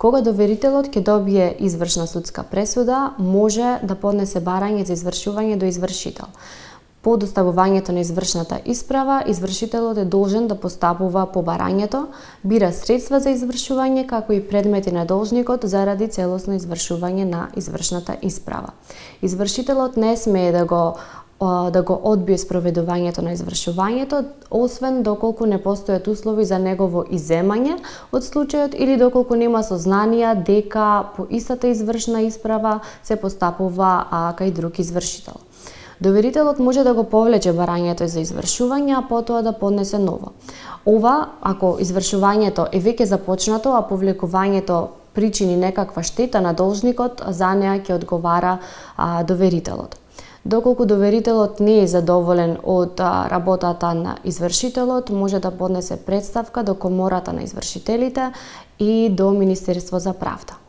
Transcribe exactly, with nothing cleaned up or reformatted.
Кога доверителот ќе добие извршна судска пресуда, може да поднесе барање за извршување до извршител. По доставувањето на извршната исправа, извршителот е должен да постапува по барањето, бира средства за извршување, како и предмети на должникот заради целосно извршување на извршната исправа. Извршителот не смее да го да го одбие спроведувањето на извршувањето, освен доколку не постојат услови за негово изземање од случајот или доколку нема сознанија дека по истата извршна исправа се постапува а, кај друг извршител. Доверителот може да го повлече барањето за извршување, а потоа да поднесе ново. Ова, ако извршувањето е веќе започнато, а повлекувањето причини некаква штета на должникот, за неа ќе одговара а, доверителот. Доколку доверителот не е задоволен од работата на извршителот, може да поднесе претставка до Комората на извршителите и до Министерство за правда.